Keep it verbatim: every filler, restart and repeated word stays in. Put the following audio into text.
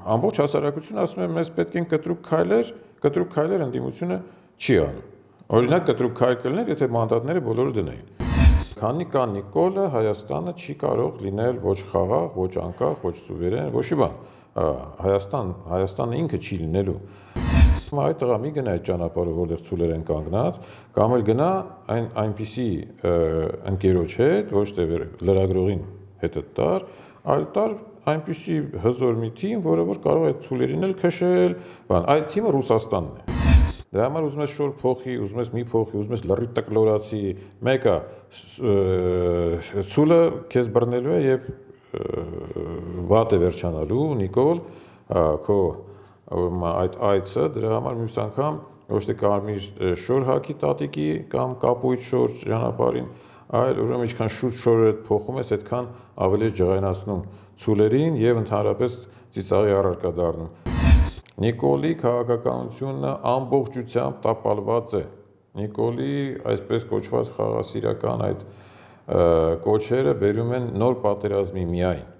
ամբողջ հասարակությունը ասում է մեզ պետք են կտրուկ քայլեր, կտրուկ քայլեր ընդդիմությունը չի անում։ Օրինակ կտրուկ քայլ կլիներ, եթե մանդատները բոլորը դնեին։ Քանի կա Նիկոլը, Հայաստանը չի կարող լինել ոչ խաղաղ, ոչ անկախ, ոչ սուվերեն, ոչ մի բան։ Հայաստան, Հայաստանը ինքը չի լինելու։ Այդ տղա մի գնա այդ ճանապարհով, որտեղ ցուլեր են կանգնած, կամ էլ գնա այն այնպիսի ընկերոջ հետ, ոչ թե լրագրողին հետը տար, այլ տար այնպիսի հզոր մի թիմ, որը որ կարող է ցուլերին էլ քշել, բան, այդ թիմը Ռուսաստանն է։ Դրա համար ուզում ես շոր փոխի, ուզում ես մի փոխի, ուզում ես լրիվ տկլորացի, մեկը ցուլը քեզ բռնելու է եւ վատ է վերջանալու, Նիկոլ, քո այդ այցը, դրա համար մյուս անգամ ոչ թե կարմիր շոր հագի տատիկի կամ կապույտ շոր ճանապարհին, այլ ուրեմն ինչքան շուտ շորը փոխում ես, այդքան ավելի ես ջղայնացնում ցուլերին եւ ընդհանրապես ծիծաղի առարկա դառնում։ Նիկոլի քաղաքականությունը ամբողջությամբ տապալված է։ Նիկոլի այսպես կոչված խաղաղասիրական այդ կոչերը բերում են նոր պատերազմի միայն։